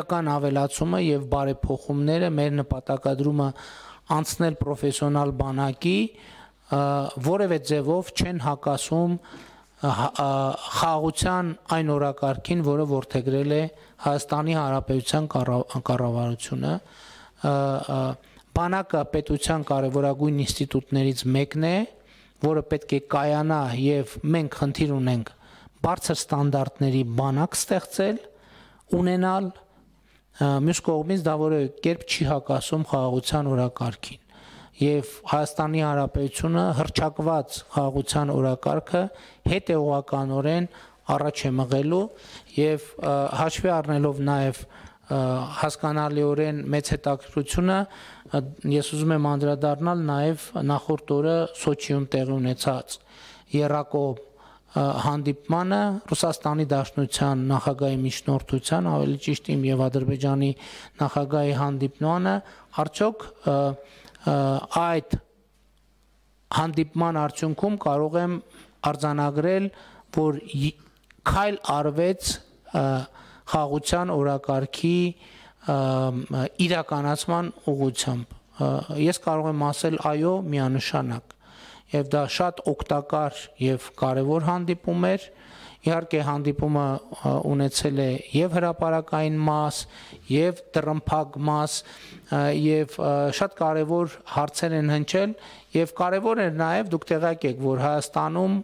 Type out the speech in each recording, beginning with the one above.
իրական ավելացումը եւ բարեփոխումները մեր նպատակադրումը անցնել պրոֆեսիոնալ բանակի որևէ ձևով չեն հակասում խաղաղության այն օրակարգին, որը որդեգրել է Հայաստանի Հանրապետության կառավարությունը, բանակը պետության կարևորագույն ինստիտուտներից մեկն է, որը պետք է կայանա եւ մենք խնդիր ունենք բարձր ստանդարտների բանակ ստեղծել, ունենալ, մյուս կողմից դա որևէ կերպ չի հակասում խաղաղության օրակարգին եւ Հայաստանի Հանրապետությունը հռչակված խաղաղության օրակարգը հետեւողականորեն առաջ է մղելու եւ հաշվի առնելով նաեւ հասկանալիորեն մեծ հետաքրքրությունը ես ուզում եմ անդրադառնալ նաեւ նախորդ օրը Սոչիում տեղի ունեցած Երակոմ հանդիպմանը Ռուսաստանի Դաշնության նախագահի միջնորդության, ավելի ճիշտ իմ եւ Ադրբեջանի նախագահի հանդիպմանը, արդյոք այդ հանդիպման արդյունքում կարող եմ արձանագրել, որ քայլ արվեց խաղաղության օրակարգի իրականացման ուղղությամբ։ Ես կարող եմ ասել այո, միանշանակ։ Եվ դա շատ օգտակար եւ կարեւոր հանդիպում էր։ Իհարկե հանդիպումը ունեցել է եւ հրապարակային մաս, եւ տրմփակ մաս, եւ շատ կարեւոր հարցեր են հնչել, եւ կարեւոր էր նաեւ դուք տեղյակ եք, որ Հայաստանում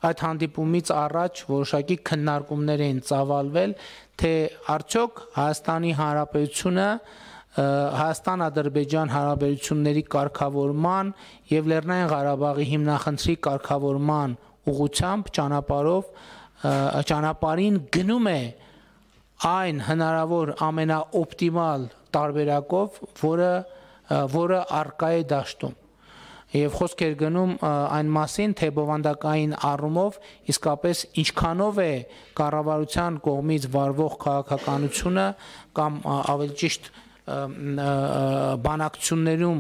այդ հանդիպումից առաջ որոշակի քննարկումներ էին ծավալվել, թե արդյոք Հայաստանի Հանրապետությունը Հայաստան-Ադրբեջան հարաբերությունների կարգավորման եւ Լեռնային Ղարաբաղի հիմնախնդրի կարգավորման ուղղությամբ ճանապարհին գնում է այն հնարավոր ամենաօպտիմալ տարբերակով, որը առկա է դաշտում։ Եվ խոսք էր գնում այն մասին, թե բովանդակային առումով իսկապես ինչքանով է կառավարության կողմից վարվող քաղաքականությունը կամ ավելի ճիշտ բանակցություններում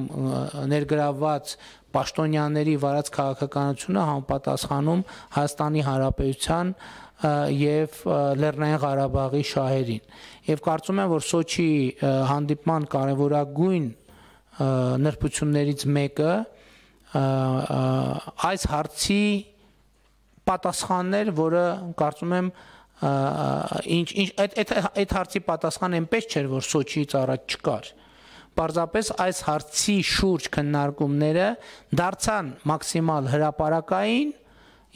ներգրավված պաշտոնյաների վարած քաղաքականությունը համապատասխանում Հայաստանի Հանրապետության եւ Լեռնային Ղարաբաղի շահերին։ Եվ կարծում եմ, որ Սոչի հանդիպման կարևորագույն նրբություններից մեկը այս հարցի պատասխաններ, որը կարծում եմ այդ հարցի պատասխան այնպես չէր, որ Սոչիից առաջ չկար։ Պարզապես այս հարցի շուրջ քննարկումները դարձան մաքսիմալ հրապարակային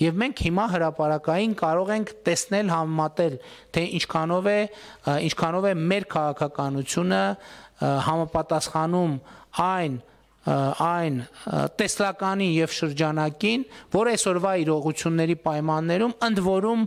եւ մենք հիմա հրապարակային կարող ենք տեսնել համեմատել, թե ինչքանով է մեր քաղաքականությունը համապատասխանում այն տեսլականի եւ շրջանակին, որ այսօրվա իրողությունների պայմաններում ընդ որում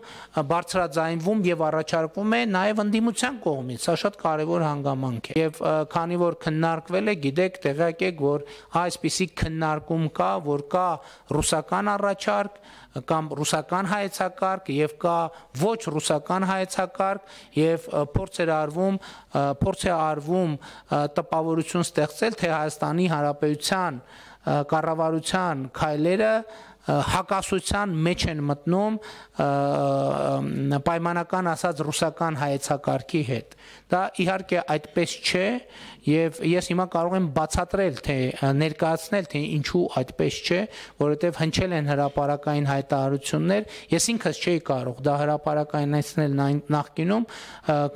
բարձրաձայնվում եւ առաջարկվում է նաեւ ընդդիմության կողմից։ Սա շատ կարեւոր հանգամանք է։ Եվ քանի որ քննարկվել է, գիտեք, տեղյակ եք, որ այսպիսի քննարկում կա, որ կա ռուսական առաջարկ կամ ռուսական հայեցակարգ եւ կա ոչ ռուսական հայեցակարգ եւ փորձ է արվում տպավորություն ստեղծել, թե Հայաստանի Հանրապետության կառավարության քայլերը հակասության մեջ են մտնում պայմանական ասած ռուսական հայեցակարգի հետ։ Դա իհարկե այդպես չէ եւ ես հիմա կարող եմ բացատրել, թե ներկայացնել, թե ինչու այդպես չէ, որովհետեւ հնչել են հրապարակային հայտարարություններ, ես ինքս չէի կարող դա հրապարակայնացնել նախկինում,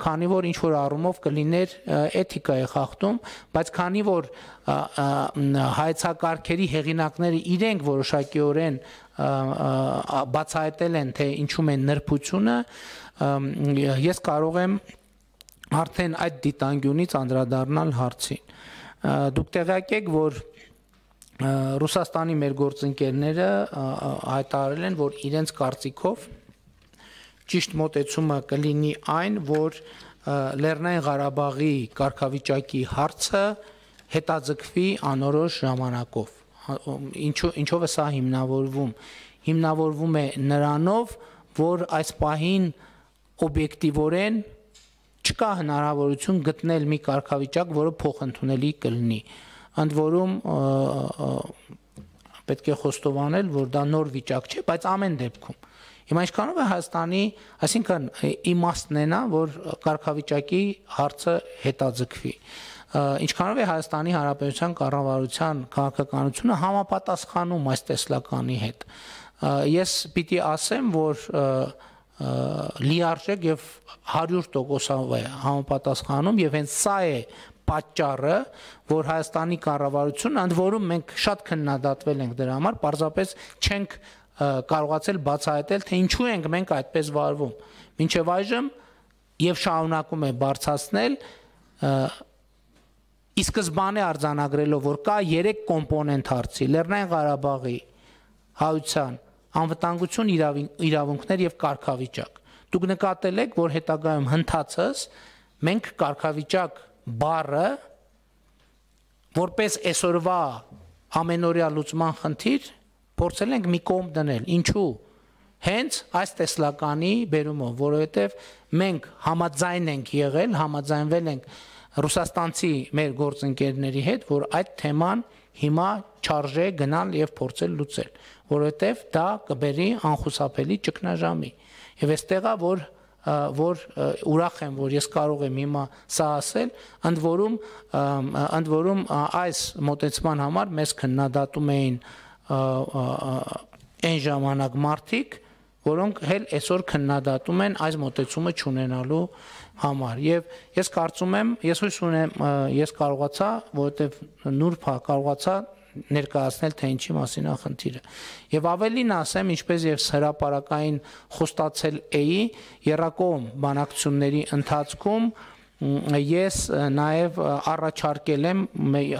քանի որ ինչ որ առումով կլիներ էթիկայի խախտում, բայց քանի որ հայեցակարգերի հեղինակները իրենք որոշակիորեն բացահայտել են, թե ինչում է նրբությունը, ես կարող եմ արդեն այդ դիտանկյունից անդրադառնալ հարցին։ Դուք տեղյակ եք, որ Ռուսաստանի մեր գործընկերները հայտարարել են, որ իրենց կարծիքով ճիշտ մոտեցումը կլինի այն, որ Լեռնային Ղարաբաղի կարգավիճակի հարցը հետաձգվի անորոշ ժամանակով։ Ինչով է սա հիմնավորվում։ Հիմնավորվում է նրանով, որ այս պահին օբյեկտիվորեն չկա հնարավորություն գտնել մի կարգավիճակ, որը փոխընդունելի կլինի։ Ընդ որում պետք է խոստովանել, որ դա նոր վիճակ չէ, բայց ամեն դեպքում հիմա ինչքանով է Հայաստանի, այսինքն իմաստն է նա, որ կարգավիճակի հարցը հետաձգվի, ինչքանով է Հայաստանի Հանրապետության կառավարության քաղաքականությունը համապատասխանում այս տեսլականի հետ։ Ես պիտի ասեմ, որ լիարժեք եւ 100% է համապատասխանում եւ հենց սա է պատճառը, որ Հայաստանի կառավարությունը, ընդ որում մենք շատ քննադատվել ենք դրա համար, պարզապես չենք կարողացել բացահայտել, թե ինչու ենք մենք այդպես վարվում։ Մինչև այժմ եւ շարունակում է բարձրացնել ի սկզբանե արձանագրելով, որ կա 3 կոմպոնենտ հարցի՝ Լեռնային Ղարաբաղի հայության անվտանգություն, իրավունքներ եւ կարգավիճակ։ Դուք նկատել եք, որ հետագայում հնդածս մենք կարգավիճակ բառը որպես այսօրվա ամենօրյա լուծման խնդիր փորձել ենք մի կողմ դնել։ Ինչու՞։ Հենց այս տեսլականի բերումով, որովհետև մենք համաձայն ենք եղել, համաձայնվել ենք ռուսաստանցի մեր գործընկերների հետ, որ այդ թեման հիմա չարժե գնալ եւ փորձել լուծել, որովհետև դա կբերի անխուսափելի ճգնաժամի։ Եվ այստեղ է, որ ուրախ եմ, որ ես կարող եմ հիմա սա ասել, ընդ որում այս մոտեցման համար մեզ քննադատում էին այն ժամանակ մարդիկ, որոնք հել այսօր քննադատում են այս մոտեցումը չունենալու համար։ Եվ ես կարծում եմ, ես հույս ունեմ, ես կարողացա, որովհետև նուրբ կարողացա ներկայացնել, թե ինչի մասին է խնդիրը։ Եվ ավելին ասեմ, ինչպես եւ հրապարակային խոստացել էի երրակողմ բանակցությունների ընթացքում, ես նաեւ առաջարկել եմ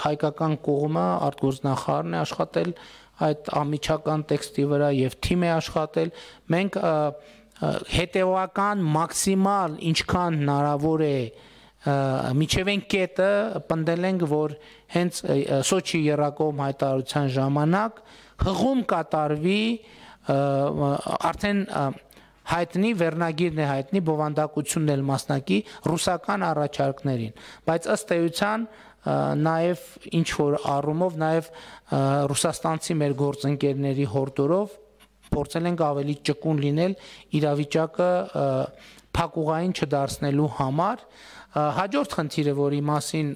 հայկական կողմը, արտգործնախարարն է աշխատել այդ ամիջական տեքստի վրա եւ թիմ է աշխատել, մենք հետեւական մաքսիմալ ինչքան հնարավոր է միջև այն կետը պնդել ենք, որ հենց Սոչի երրակողմ հայտարարության ժամանակ հղում կատարվի արդեն հայտնի վերնագիրն է հայտնի բովանդակությունն էլ մասնակի ռուսական առաջարկներին, բայց ըստ էության նաև ինչ որ առումով նաև ռուսաստանցի մեր գործընկերների հորդորով փորձել ենք ավելի ճկուն լինել իրավիճակը փակուղային չդարձնելու համար։ Հաջորդ խնդիրը, որի մասին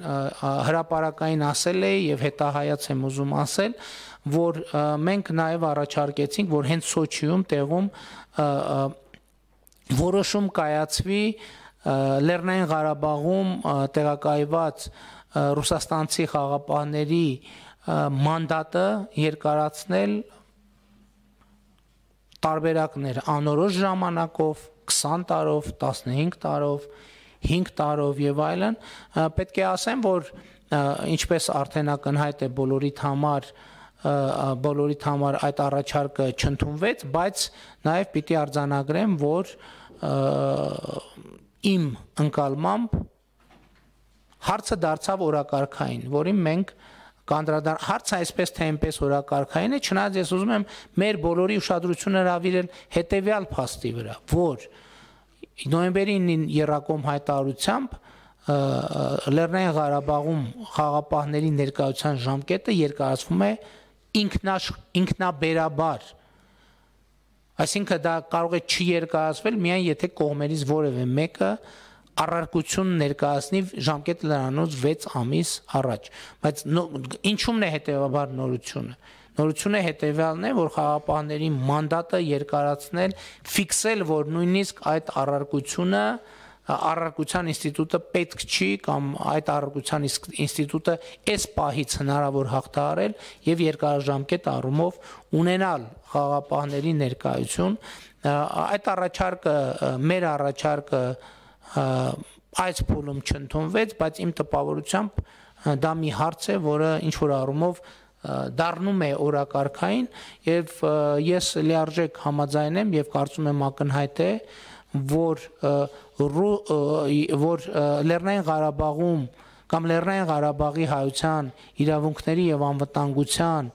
հրապարակային ասել էի եւ հետահայաց եմ ուզում ասել, որ մենք նաեւ առաջարկեցինք, որ հենց Սոչիում տեղում որոշում կայացվի Լեռնային Ղարաբաղում տեղակայված ռուսաստանցի խաղաղապահների մանդատը երկարացնել տարբերակներ անորոշ ժամանակով, 20 տարով, 15 տարով, 5 տարով եւ այլն, պետք է ասեմ, որ ինչպես արդեն ակնհայտ է բոլորիդ համար այդ առաջարկը չընդունվեց, բայց նաեւ պիտի արձանագրեմ, որ իմ ընկալմամբ հարցը դարձավ օրակարգային, որին մենք հարցը այսպես թե այնպես օրակարգային է, չնայած ես ուզում եմ մեր բոլորի ուշադրությունը հրավիրել հետեւյալ փաստի վրա, որ նոյեմբերի 9-ին երրակողմ հայտարարությամբ Լեռնային Ղարաբաղում խաղաղապահների ներկայության ժամկետը երկարացվում է ինքնաբերաբար, այսինքն դա կարող է չերկարացվել միայն եթե կողմերից որևէ մեկը առարկություն ներկայացնի ժամկետը լրանոց 6 ամիս առաջ, բայց ինչումն է հետեւաբար նորությունը։ Նորությունը հետեւյալն է, որ խաղաղապահների մանդատը երկարացնել, ֆիքսել, որ նույնիսկ այդ առարկության ինստիտուտը պետք չի կամ այդ առարկության ինստիտուտը այս պահից հնարավոր հաղթահարել եւ երկարաժամկետ առումով ունենալ խաղաղապահների ներկայություն։ Այդ առաջարկը, մեր առաջարկը այս փուլում չընդունվեց, բայց իմ տպավորությամբ դա մի հարց է, որը ինչ որ առումով դառնում է օրակարգային եւ ես լիարժեք համաձայն եմ եւ կարծում եմ ակնհայտ է, որ Լեռնային Ղարաբաղում կամ Լեռնային Ղարաբաղի հայության իրավունքների եւ անվտանգության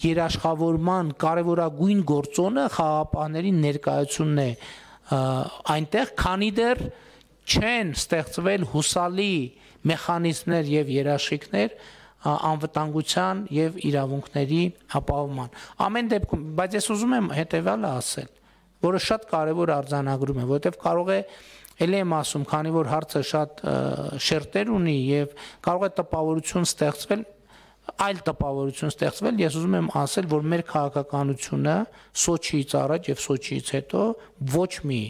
երաշխավորման կարևորագույն գործոնը խաղաղապահների ներկայությունն է այնտեղ, քանի դեռ չեն ստեղծվել հուսալի մեխանիզմներ եւ երաշխիքներ անվտանգության եւ իրավունքների ապահովման։ Ամեն դեպքում, բայց ես ուզում եմ հետեւյալը ասել, որը շատ կարեւոր արձանագրում է, որովհետեւ կարող է ելի եմ ասում, քանի որ հարցը շատ շերտեր ունի եւ կարող է տպավորություն ստեղծվել, այլ տպավորություն ստեղծվել, ես ուզում եմ ասել, որ մեր քաղաքականությունը Սոչիից առաջ եւ Սոչիից հետո ոչ մի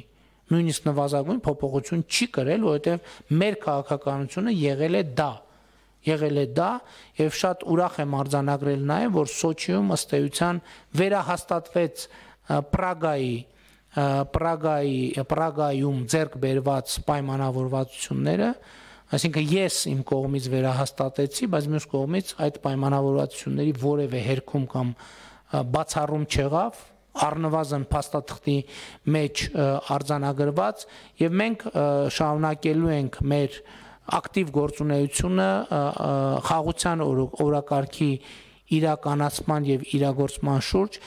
նույնիսկ նվազագույն փոփոխություն չի կրել, որովհետեւ մեր քաղաքականությունը եղել է դա եւ շատ ուրախ եմ արձանագրել նաեւ, որ Սոչիում ըստ էության վերահաստատվեց Պրագայում ձեռք բերված պայմանավորվածությունները, այսինքն ես իմ կողմից վերահաստատեցի, բայց մյուս կողմից այդ պայմանավորվածությունների որևէ հերքում կամ բացառում չեղավ, առնվազն փաստաթղթի մեջ արձանագրված եւ մենք շարունակելու ենք մեր ակտիվ գործունեությունը խաղաղության օրակարգի իրականացման եւ իրագործման շուրջ